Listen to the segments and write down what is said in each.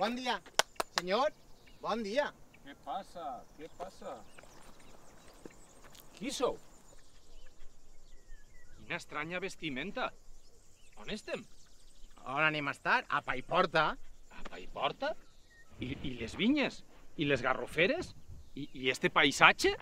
Bon dia, senyor. Bon dia. Què passa? Què passa? Qui sou? Quina estranya vestimenta. On estem? On anem a estar? A Paiporta. A Paiporta? I les vinyes? I les garroferes? I este paisatge?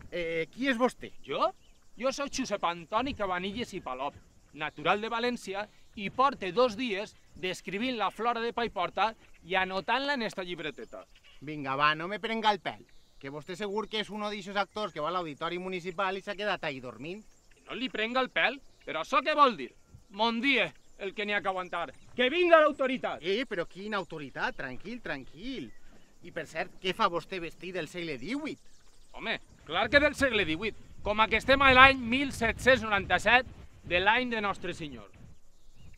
Qui és vostè? Jo? Jo soc Josep Antoni Cabanilles i Palop, natural de València, i porte 2 dies descrivint la flora de Paiporta i anotant-la en esta llibreteta. Vinga, va, no me prenga el pèl. Que vostè segur que és un d'aixos actors que va a l'auditori municipal i s'ha quedat ahí dormint. Que no li prenga el pèl? Però això què vol dir? Mon dia, el que n'hi ha que aguantar. Que vinga l'autoritat! Però quina autoritat? Tranquil, tranquil. I per cert, què fa vostè vestit del segle XVIII? Home, clar que del segle XVIII, com que estem a l'any 1797 de l'any de Nostre Senyor.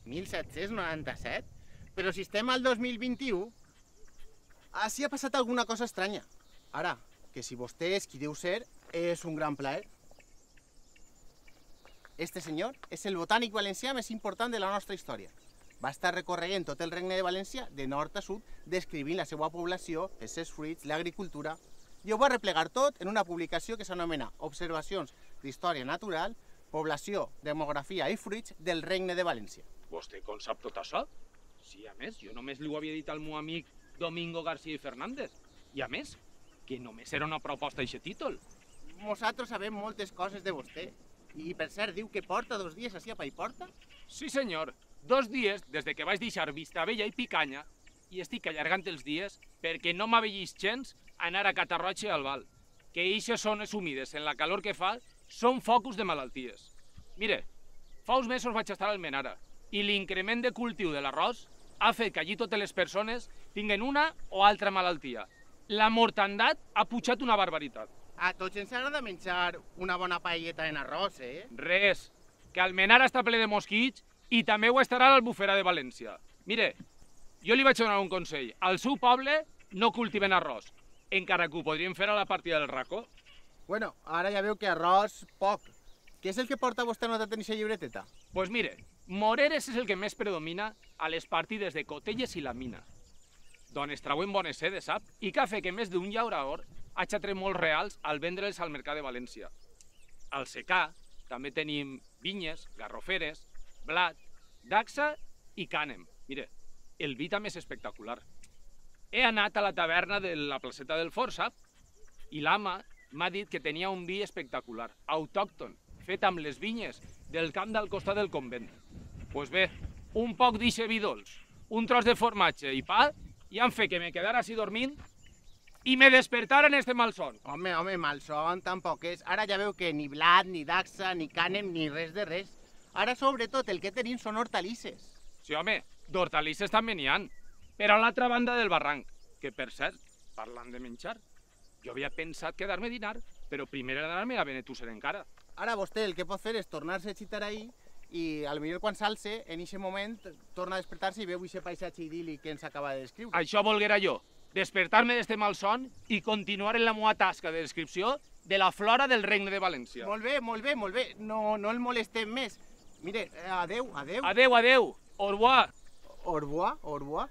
1797? Però si estem al 2021, així ha passat alguna cosa estranya. Ara, que si vostè és qui deu ser, és un gran plaer. Este senyor és el botànic valencià més important de la nostra història. Va estar recorregent tot el regne de València, de nord a sud, descrivint la seva població, els seus fruits, l'agricultura, i ho va replegar tot en una publicació que s'anomena Observacions d'Història Natural, Població, Demografia i Fruits del Regne de València. Vostè com sap tot això? Sí, a més, jo només li ho havia dit al meu amic Domingo García i Fernández. I a més, que només era una proposta d'aquest títol. Nosaltres sabem moltes coses de vostè. I per cert, diu que porta 2 dies així a Paiporta? Sí, senyor. 2 dies des de que vaig deixar Vistabella i Picanya i estic allargant els dies perquè no m'avellis gens anar a Catarroja i Albal, que eixes zones humides en la calor que fa són focus de malalties. Mire, fa uns mesos vaig estar al Almenara i l'increment de cultiu de l'arròs ha fet que allí totes les persones tinguen una o altra malaltia. La mortandat ha pujat una barbaritat. A tots ens agrada menjar una bona paelleta en arròs, Res, que Almenara està ple de mosquits i també ho estarà a l'Albufera de València. Mire, jo li vaig donar un consell. Al seu poble no cultiven arròs, encara que ho podríem fer a la partida del racó. Bueno, ara ja veu que arròs poc. Què és el que porta vostè anotat en aquesta llibreteta? Pues mire, Moreres és el que més predomina a les partides de Cotelles i la Mina, d'on es trauen bones sedes, sap? I que ha fet que més d'un llaurador hagi tret molts reals al vendre'ls al mercat de València. Al secà també tenim vinyes, garroferes, blat, dacsa i cànem. Mire, el vi també és espectacular. He anat a la taverna de la placeta del Fort, sap? I l'ama m'ha dit que tenia un vi espectacular, autòcton, fet amb les vinyes del camp del costat del convent. Pues bé, un poc d'eixe vi dolç, un tros de formatge i pa, i han fet que me quedara així dormint i me despertara en este malson. Home, malson tampoc és. Ara ja veu que ni blat, ni daxa, ni cànem, ni res de res. Ara, sobretot, el que tenim són hortalisses. Sí, home, d'hortalisses també n'hi ha, però a l'altra banda del barranc, que per cert, parlant de menjar, jo havia pensat quedar-me a dinar, però primer he d'anar-me a Benetússer encara. Ara vostè el que pot fer és tornar-se a xitar ahí i potser quan s'alce, en aquest moment, torna a despertar-se i veu aquest paisatge idíl·lic que ens acaba de descriure. Això volguera jo, despertar-me d'este malson i continuar en la meva tasca de descripció de la flora del Regne de València. Molt bé, molt bé, molt bé. No el molestem més. Mire, adeu, adeu. Adeu, adeu. Au revoir. Au revoir, au revoir.